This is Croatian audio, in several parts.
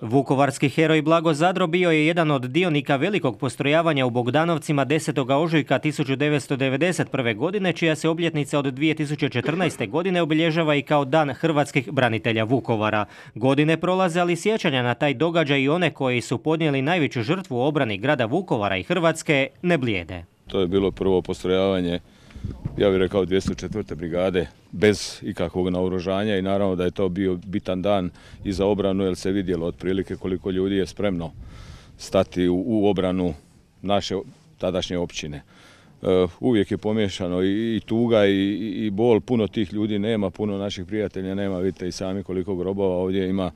Vukovarski heroj Blago Zadro bio je jedan od dionika velikog postrojavanja u Bogdanovcima 10. ožujka 1991. godine, čija se obljetnica od 2014. godine obilježava i kao Dan hrvatskih branitelja Vukovara. Godine prolaze, ali sjećanja na taj događaj i one koji su podnijeli najveću žrtvu u obrani grada Vukovara i Hrvatske ne blijede. To je bilo prvo postrojavanje, ja bih rekao 204. brigade, bez ikakvog naoružanja i naravno da je to bio bitan dan i za obranu jer se vidjelo otprilike koliko ljudi je spremno stati u obranu naše tadašnje općine. Uvijek je pomiješano i tuga i bol, puno tih ljudi nema, puno naših prijatelja nema, vidite i sami koliko grobova ovdje ima.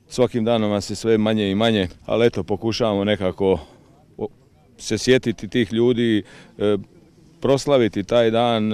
Svakim danom nas je sve manje i manje, ali eto pokušavamo nekako se sjetiti tih ljudi, proslaviti taj dan,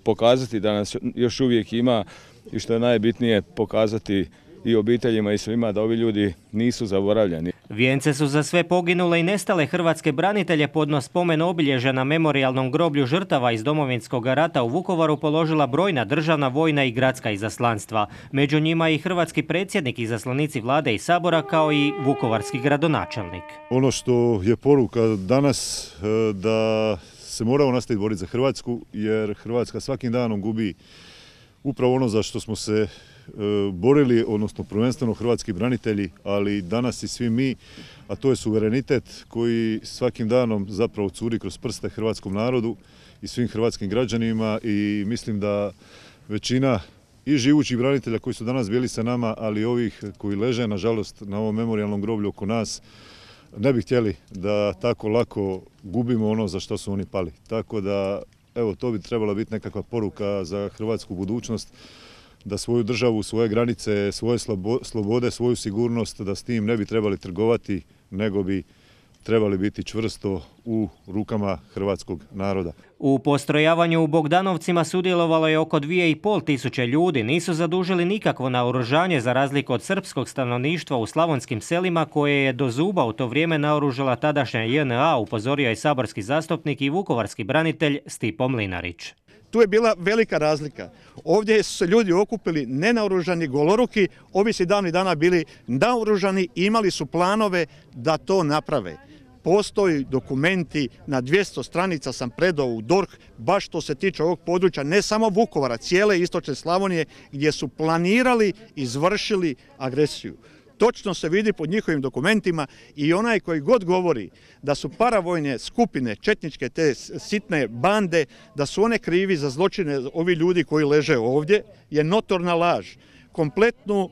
pokazati da nas još uvijek ima i što je najbitnije pokazati i obiteljima i svima da ovi ljudi nisu zaboravljeni. Vijence su za sve poginule i nestale hrvatske branitelje podno spomen obilježja na memorijalnom groblju žrtava iz Domovinskog rata u Vukovaru položila brojna državna, vojna i gradska izaslanstva. Među njima i hrvatski predsjednik, izaslanici vlade i sabora kao i vukovarski gradonačelnik. Ono što je poruka danas da se moramo nastaviti boriti za Hrvatsku, jer Hrvatska svakim danom gubi upravo ono za što smo se borili, odnosno prvenstveno hrvatski branitelji, ali danas i svi mi, a to je suverenitet koji svakim danom zapravo curi kroz prste hrvatskom narodu i svim hrvatskim građanima i mislim da većina i živućih branitelja koji su danas bili sa nama, ali i ovih koji leže nažalost na ovom memorijalnom groblju oko nas, ne bi htjeli da tako lako gubimo ono za što su oni pali. Tako da, evo, to bi trebala biti nekakva poruka za hrvatsku budućnost, da svoju državu, svoje granice, svoje slobode, svoju sigurnost, da s tim ne bi trebali trgovati, nego bi trebali biti čvrsto u rukama hrvatskog naroda. U postrojavanju u Bogdanovcima sudjelovalo je oko 2500 ljudi. Nisu zadužili nikakvo naoružanje za razliku od srpskog stanovništva u slavonskim selima koje je do zuba u to vrijeme naoružala tadašnja JNA, upozorio je saborski zastupnik i vukovarski branitelj Stipo Mlinarić. Tu je bila velika razlika. Ovdje su se ljudi okupili nenaoružani, goloruki, ovi su davnih dana bili naoružani i imali su planove da to naprave. Postoji dokumenti, na 200 stranica sam predao u DORH, baš što se tiče ovog područja, ne samo Vukovara, cijele istočne Slavonije, gdje su planirali, izvršili agresiju. Točno se vidi pod njihovim dokumentima i onaj koji god govori da su paravojne skupine, četničke te sitne bande, da su one krivi za zločine ovi ljudi koji leže ovdje, je notorna laž. Kompletnu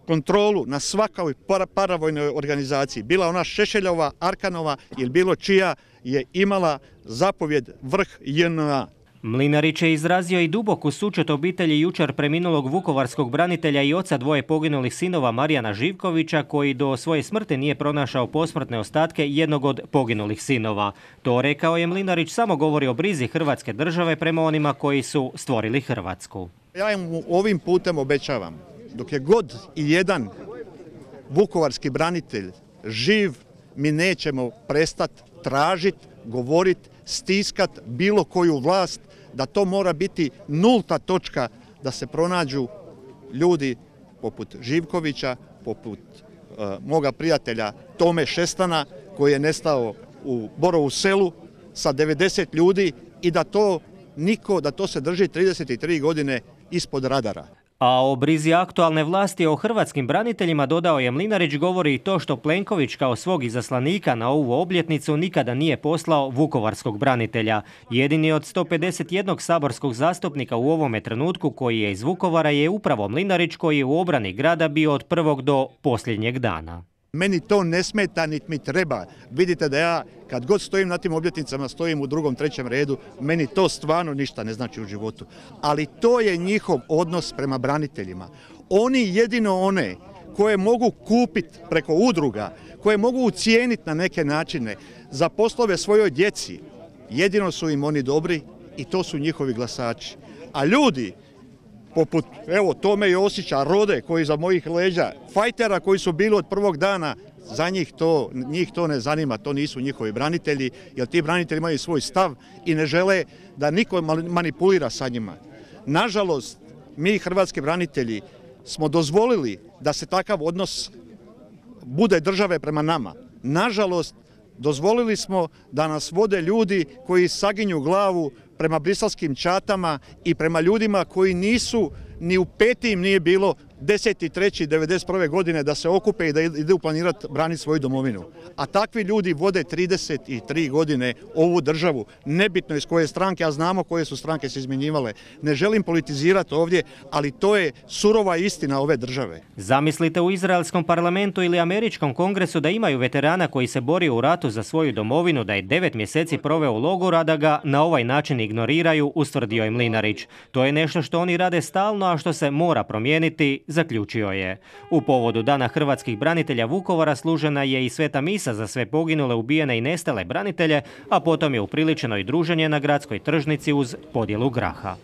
kontrolu na svakoj paravojnoj organizaciji, bila ona Šešeljova, Arkanova ili bilo čija, je imala zapovjed vrh JNA. Mlinarić je izrazio i duboku sućut obitelji jučer preminulog vukovarskog branitelja i oca dvoje poginulih sinova Marijana Živkovića, koji do svoje smrti nije pronašao posmrtne ostatke jednog od poginulih sinova. To, rekao je Mlinarić, samo govori o brizi Hrvatske države prema onima koji su stvorili Hrvatsku. Ja im ovim putem obećavam, dok je god i jedan vukovarski branitelj živ, mi nećemo prestati tražiti, govoriti, stiskati bilo koju vlast, da to mora biti nulta točka, da se pronađu ljudi poput Živkovića, poput moga prijatelja Tome Šestana koji je nestao u Borovu selu sa 90 ljudi i da to se drži 33 godine ispod radara. A o brizi aktualne vlasti o hrvatskim braniteljima, dodao je Mlinarić, govori i to što Plenković kao svog izaslanika na ovu obljetnicu nikada nije poslao vukovarskog branitelja. Jedini od 151 saborskog zastupnika u ovome trenutku koji je iz Vukovara je upravo Mlinarić, koji je u obrani grada bio od prvog do posljednjeg dana. Meni to ne smeta, niti mi treba. Vidite da ja, kad god stojim na tim obljetnicama, stojim u drugom, trećem redu, meni to stvarno ništa ne znači u životu. Ali to je njihov odnos prema braniteljima. Oni jedino one koje mogu kupiti preko udruga, koje mogu ucijeniti na neke načine za poslove svojoj djeci, jedino su im oni dobri i to su njihovi glasači. A ljudi poput, evo, Tome Josića, Rode, koji za mojih leđa, fajtera koji su bili od prvog dana, za njih to ne zanima, to nisu njihovi branitelji, jer ti branitelji imaju svoj stav i ne žele da niko manipulira sa njima. Nažalost, mi hrvatski branitelji smo dozvolili da se takav odnos bude države prema nama. Nažalost, dozvolili smo da nas vode ljudi koji saginju glavu prema briselskim čatama i prema ljudima koji nisu, ni u petim nije bilo 10.3.1991. godine da se okupe i da idu planirati braniti svoju domovinu. A takvi ljudi vode 33 godine ovu državu, nebitno iz koje stranke, a znamo koje su stranke se izmjenjivale. Ne želim politizirati ovdje, ali to je surova istina ove države. Zamislite u izraelskom parlamentu ili američkom kongresu da imaju veterana koji se borio u ratu za svoju domovinu, da je 9 mjeseci proveo u logoru, a da ga na ovaj način ignoriraju, ustvrdio je Mlinarić. To je nešto što oni rade stalno, a što se mora promijeniti, zaključio je. U povodu Dana hrvatskih branitelja Vukovara služena je i sveta misa za sve poginule, ubijene i nestale branitelje, a potom je upriličeno i druženje na gradskoj tržnici uz podjelu graha.